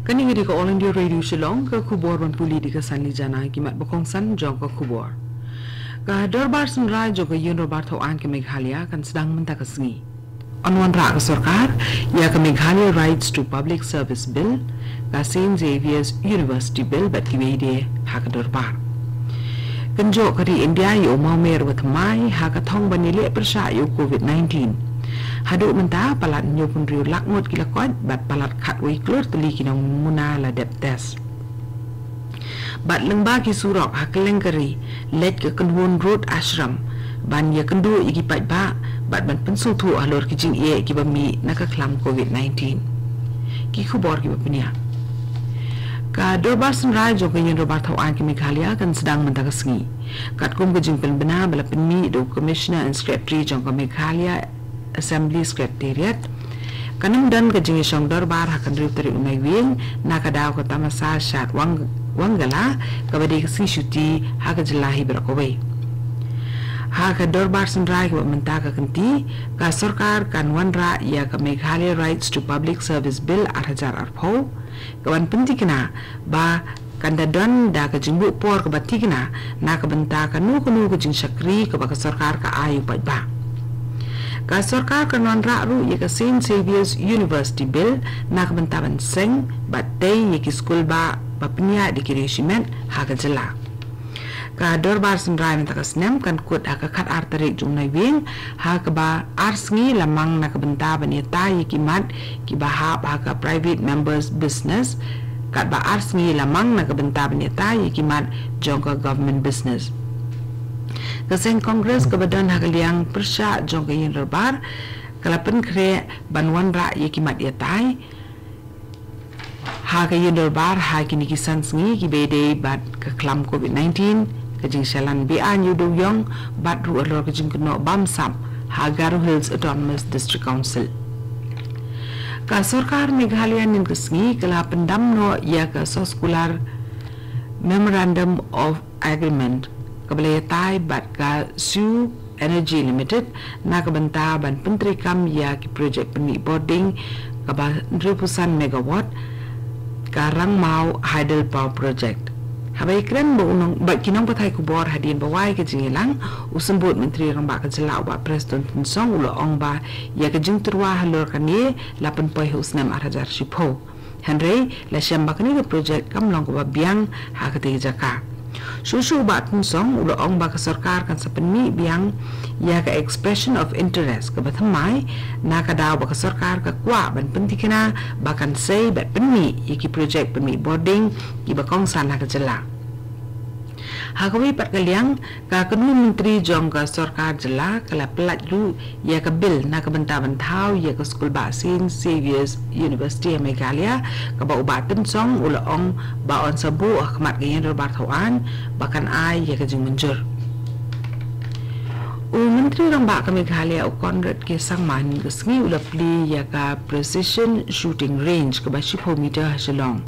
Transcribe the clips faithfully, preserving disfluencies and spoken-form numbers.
Kane ka dei ka All India Radio Shillong, ka khubor ban pule da ka Sanli Jana. Ki mat ba kongsan jong ka khubor. Ka Dorbar Synrai jong ka Ïing Dorbar Thawaiñ ka Meghalaya kan sdang mynta ka sngi. Yn wanrah ka sorkar ïa ka Meghalaya Rights to Public Service Bill, ka Saint Xavier's University Bill bad kiwei de ha ka dorbar. Kynjoh ka ri India ïa u mawmer ba thymmai ha ka thong ban ïaleh pyrshah ïa u covid nineteen. Haduh mynta palat hynñiewphew hynriew lak ngut ki la koit bad palat khatwei klur tylli ki nongmuna la dep test. Bad lyngba ki surok ha kylleng ka ri, leit ka kynhun Road Ashram ban ïakynduh ïa ki paidbah bad ban pynsngewthuh halor ki jingeh kiba mih na ka khlam covid nineteen. Ki khubor kiba pynïaid. Ka Dorbar Synrai jong ka Ïing Dorbar Thawaiñ ka Meghalaya kan sdang mynta ka sngi. Katkum ka jingpynbna ba la pynmih da u Commissioner and Secretary jong ka Meghalaya Assembly Secretariat, kan ym don ka jingïashong dorbar ha ka hynriew tarik u Naiwieng na ka daw ka tamasa Shad Wang-, Wangala, kaba dei ka sngi shuti ha ka jylla hi baroh kawei. Ha ka Dorbar Synrai kaba mynta ka kynti, ka sorkar kan wanrah ïa ka Meghalaya Rights to Public Service Bill ar hajar arphew, kaban pynthikna ba kan da don da ka jingbuh por kaba thikna na ka bynta kano kano ka jingshakri kaba ka sorkar ka ai u paidbah. Ka sorkar kan wanrah ruh ïa ka Saint Xavier's University Bill na ka bynta ban seng bad tei ïa ki skul ba, ba pynïaid da ki riewshimet ha ka jylla. Ka Dorbar Synrai mynta ka snem kan kut ha ka khatar tarik jong u Naiwieng, ha kaba ar sngi la mang na ka bynta ban ïatai ïa ki mat kiba hap ha ka private members business, katba ar sngi la mang na ka bynta ban ïatai ïa ki mat jong ka government business. Ka seng Congress kaba don ha ka liang pyrshah jong ka Ïing Dorbar ka la pynkhreh ban wanrah ïa ki mat ïatai ha ka Ïing Dorbar ha kine ki san sngi kiba ïadei bad ka khlam covid nineteen, ka jingshalan beaiñ ïa u dewïong bad ruh halor ka jingkynnoh bamsap ha Garo Hills Autonomous District Council. Ka sorkar Meghalaya mynta ka sngi ka la pyndam noh ïa ka soskular Memorandum of Agreement kaba la ïatai bad ka Sioux Energy Limited na ka bynta ban pyntreikam ïa ki projek pynmih bording kaba hynriewphew san megawatt, ka Rangmaw Hydel Power Project. Haba ïakren bad u nong-, bad ki nongpathai khubor hadien ba wai ka jingïalang, u Symbud Myntri Rangbah ka jylla u Bah Prestone Tynsong u la ong ba ïa ka jingtyrwa halor kane la pynpoi ha u snem ar hajar shiphew. Hynrei la shem ba kane ka projek kam long kaba biang ha katei ka jaka. Shuh shuh u Bah Tynsong u la ong ba ka sorkar kan sa pynmih biang ïa ka expression of interest kaba thymmai, na ka daw ba ka sorkar ka kwah ban pynthikna ba kan sei bad pynmih ïa ki projek pynmih bording kiba kongsan ha ka jylla. Ha kawei pat ka liang, ka kynhun myntri jong ka sorkar jylla ka la pyllait ruh ïa ka bill na ka bynta ban thaw ïa ka skul bah Saint Xavier's University ha Meghalaya, kaba u Bah Tynsong u la ong ba yn sa buh ha khmat ka Ïing Dorbar Thawaiñ ba kan ai ïa ka jingmynjur. U Myntri Rangbah ka Meghalaya u Conrad K Sangma mynta ka sngi u la plie ïa ka Precision Shooting Range kaba shiphew meter ha Shillong.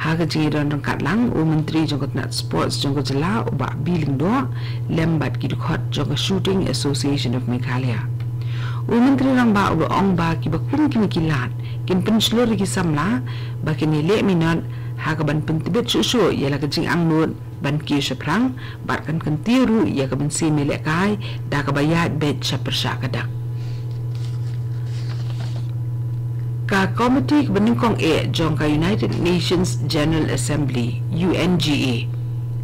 Ha ka jingïadon ryngkat lang, u Myntri jong ka tnat Sports jong ka jylla u Bah B. Lyngdoh lem bad ki dkhot jong ka Shooting Association of Meghalaya. U Myntri Rangbah u la ong ba kiba kum kine ki lad kin pynshlur ïa ki samla ba kin ïaleh minot ha kaban pyntbit shuh shuh ïa la ka jingangnud ban kiew shaphrang bad kan kyntiew ruh ïa ka mynsiem ïalehkai da kaba ïaid beit sha pyrshah ka dak. Ka komiti kaba nyngkong eh jong ka United Nations General Assembly, U N G A,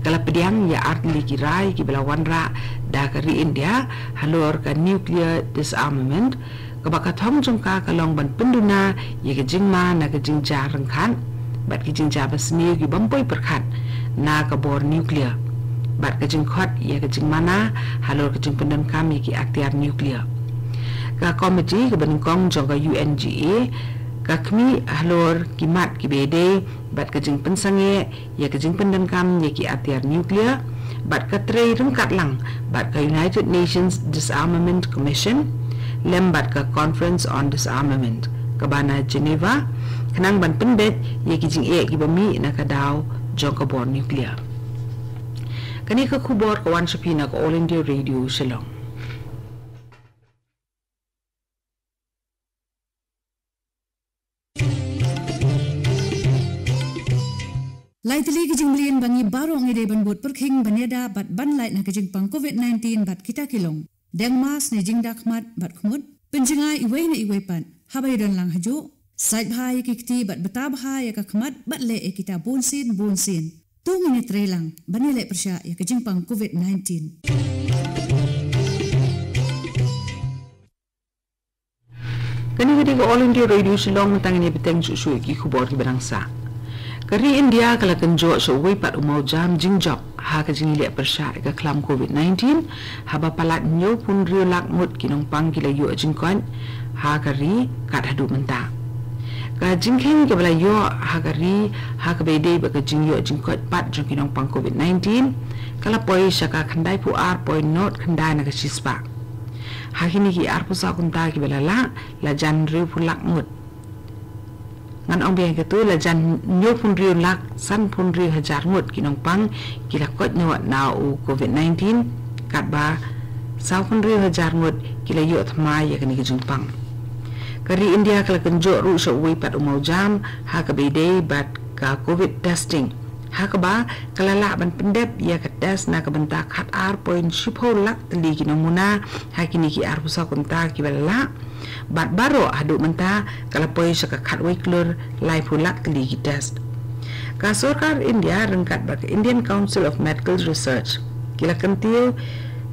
ka la pdiang ïa artylli ki rai kiba la wanrah da ka ri India halor ka nuclear disarmament, kaba ka thong jong ka ka long ban pynduna ïa ka jingma na ka jingjia ryngkat bad ka jingjia basniew ki bym poi pyrkhat na ka bor nuclear bad ka jingkhot ïa ka jingmana halor ka jingpyndonkam ïa ki atiar nuclear. Ka komiti kaba nyngkong jong ka U N G A ka khmih halor ki mat kiba ïadei bad ka jingpynsangeh ïa ka jingpyndonkam ïa ki atiar nuclear, bad ka trei ryngkat lang bad ka United Nations Disarmament Commission lem bad ka Conference on Disarmament kaba na Geneva, khnang ban pynbeit ïa ki jingeh kiba mih na ka daw jong ka bor nuclear. Kane ka khubor ka wan sha phi na ka All India Radio Shillong. Lai tylli ki jingmlien ba ngi baroh ngi dei ban bud pyrkhing ban ïada bad ban lait na ka jingpang covid nineteen bad kita ki long: deng mask ne jingda khmat bad khmut, pynjngai iwei na iwei pat haba ïadon lang hajuh, sait bha ïa ki kti bad bta bha ïa ka khmat bad leh ïa kita bunsien bunsien. To ngin ïatreilang ban ïaleh pyrshah ïa ka jingpang covid nineteen. Kane ka dei ka All India Radio Shillong. Mynta ngin ïa bteng shuh shuh ïa ki khubor kiba dang sah. Ka ri India ka la kynjoh sha uwei pat u mawjam jingjop ha ka jingïaleh pyrshah ïa ka khlam covid nineteen, haba palat hynñiewphew hynriew lak ngut ki nongpang ki la ïoh jingkoit ha ka ri kat haduh mynta. Ka jingkheiñ kaba la ïoh ha ka ri ha kaba ïadei bad ka jingïoh jingkoit pat jong ki nongpang covid nineteen ka la poi sha ka khyndaiphew ar point nod khyndai na ka shispah. Ha kine ki arphew saw kynta kiba la lah, la jan hynriewphew lak ngut. Ngan ong biang, katu la jan hynñiewphew hynriew lak sanphew hynriew hajar ngut ki nongpang ki la koit noh na u covid nineteen, katba sawphew hynriew hajar ngut ki la ïoh thymmai ïa kane ka jingpang. Ka ri India ka la kynjoh ruh sha uwei pat u mawjam ha kaba ïadei bad ka covid testing, ha kaba ka la lah ban pyndep ïa ka test na ka bynta khat ar point shiphew lak tylli ki nongmuna ha kine ki arphew saw kynta kiba la lah, bad baroh haduh mynta ka la poi sha ka khatwei klur laiphew lak tylli ki test. Ka sorkar India ryngkat bad ka Indian Council of Medical Research ki la kyntiew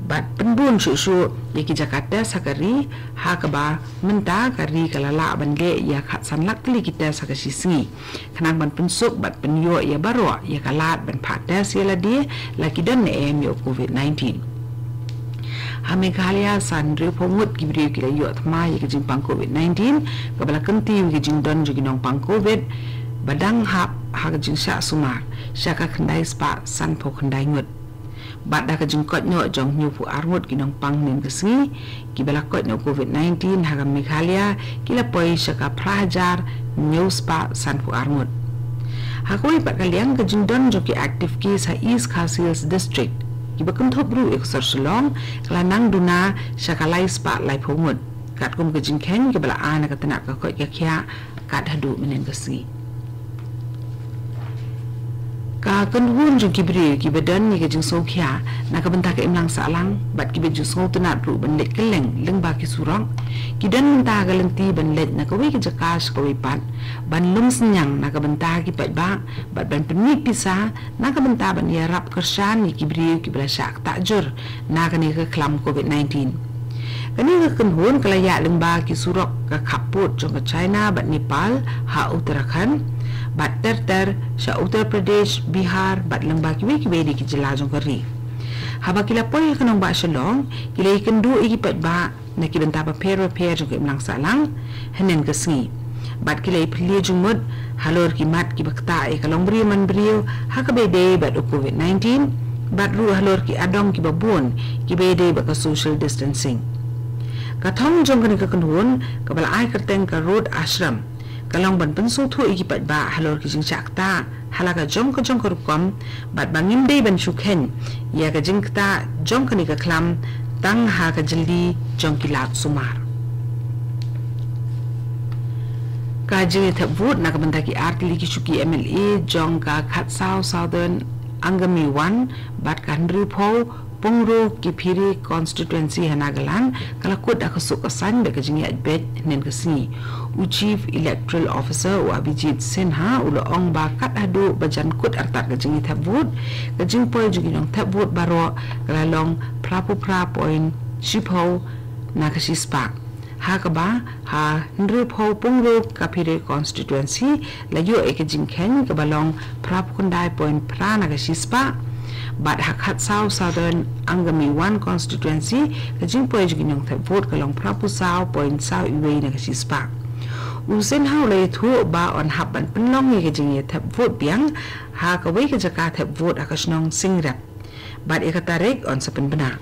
bad pynbun shuh shuh ïa ki jaka test ha ka ri, ha kaba mynta ka ri ka la lah ban leh ïa khatsan lak tylli ki test ha ka shi sngi, khnang ban pynsuk bad pynïoh ïa baroh ïa ka lad ban phah test ïa lade la ki don ne em ïa u covid nineteen. Ha Meghalaya, san hynriewphew ngut ki briew ki la ïoh thymmai ïa ka jingpang covid nineteen, kaba la kyntiew ïa ka jingdon jong ki nongpang covid ba dang hap ha ka jingshah sumar sha ka khyndai spah sanphew khyndai ngut. Bad da ka jingkoit noh jong hynñiewphew ar ngut ki nongpang hynnin ka sngi kiba la koit na u covid nineteen ha ka Meghalaya, ki la poi sha ka phra hajar hynñiew spah sanphew ar ngut. Ha kawei pat ka liang, ka jingdon jong ki active case ha East Khasi Hills District kiba kynthup ruh ïa ka sor Shillong ka la nang duna sha ka lai spah laiphew ngut, katkum ka jingkheiñ kaba la ai na ka tnat ka koit ka khiah kat haduh mynnin ka sngi. Ka kynhun jong ki briew kiba don ïa ka jingsngewkhia na ka bynta ka imlang sahlang bad kiba ju sngewtynnat ruh ban leit kylleng lyngba ki surok, ki don mynta ha ka lynti ban leit na kawei ka jaka sha kawei pat ban lum synñiang na ka bynta ki paidbah bad ban pynmih pisa na ka bynta ban ïarap kyrshan ïa ki briew kiba la shah ktah jur na kane ka khlam covid nineteen. Kane ka kynhun ka la ïaid lyngba ki surok ka khappud jong ka China bad Nepal ha Uttarakhand, bad ter ter sha Uttar Pradesh, Bihar bad lyngba kiwei kiwei de ki jylla jong ka ri. Haba ki la poi ha ka nongbah Shillong, ki la ïakynduh ïa ki paidbah na ki bynta bapher bapher jong ka imlang sahlang hynnin ka sngi, bad ki la ïaphylliew jingmut halor ki mat kiba ktah ïa ka longbriew manbriew ha kaba ïadei bad u covid nineteen, bad ruh halor ki adong kiba bun kiba ïadei bad ka social distancing. Ka thong jong kane ka kynhun kaba la ai kyrteng ka Road Ashram ka long ban pynsngewthuh ïa ki paidbah halor ki jingshah ktah ha la ka jong ka jong ka rukom, bad ba ngim dei ban shu kheiñ ïa ka jingktah jong kane ka khlam tang ha ka jylli jong ki lad sumar. Ka jingïathep vote na ka bynta ki artylli ki shuki M L A jong ka Khatsaw Southern Angami One bad ka hynriewphew Pungro Kiphire Constituency ha Nagaland ka la kut da ka suk ka saiñ bad ka jingïaid beit hynnin ka sngi. U Chief Electoral Officer, u Abhijit Sinha, u la ong ba kat haduh ba jan kut artat ka jingïathep vote, ka jingpoi jong ki nongthep vote baroh ka la long phraphew phra point shiphew na ka shispah. Ha kaba ha hynriewphew Pungro Kiphire Constituency la ïoh ïa ka jingkheiñ kaba long phraphew khyndai point phra na ka shispah. Bad ha Khatsaw Southern Angami One Constituency, ka jingpoi jong ki nongthep vote ka long phraphew saw point saw iwei na ka shispah. U Sinha u la ïathuh ba yn hap ban pynlong ïa ka jingïathep vote biang ha kawei ka jaka thep vote ha ka shnong Singrep, bad ïa ka tarik yn sa pynbna.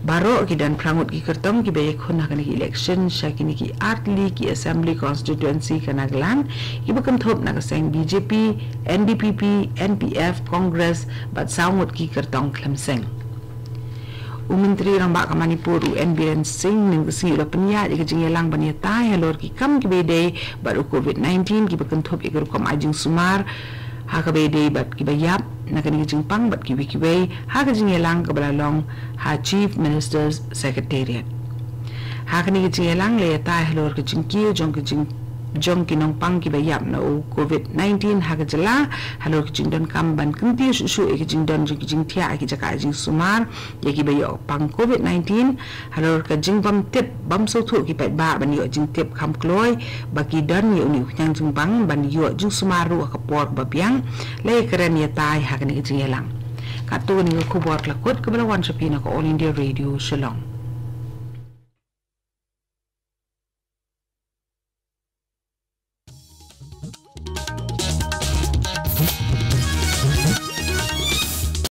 Baroh ki don phra ngut ki kyrtong kiba ïakhun ha kane ka election sha kine ki artylli ki assembly constituency ka Nagaland, kiba kynthup na ka seng B J P, N D P P, N P F, Congress bad saw ngut ki kyrtong khlem seng. U Myntri Rangbah ka Manipur, u N Biren Singh, mynne ka sngi u la pynïaid ïa ka jingïalang ban ïatai halor ki kam kiba ïadei bad u covid nineteen, kiba kynthup ïa ka rukom ai jingsumar ha kaba ïadei bad kiba ïap na kane ka jingpang bad kiwei kiwei ha ka jingïalang kaba la long ha Chief Minister's Secretariat. Ha kane ka jingïalang la ïatai halor ka jingkiew jong ka jing jong ki nongpang kiba ïap na u covid nineteen ha ka jylla, halor ka jingdonkam ban kyntiew shuh shuh ïa ka jingdon jong ki jingthiah ha ki jaka jingsumar ïa kiba ïoh pang covid nineteen, halor ka jingbym tip bym sngewthuh ki paidbah ban ïoh jingtip kham kloi ba ki don ïa une u khñiang jingpang ban ïoh jingsumar ruh ha ka por kaba biang, la ïakren ïatai ha kane ka jingïalang. Katto kane ka khubor ka la kut kaba la wan sha phi na ka All India Radio Shillong.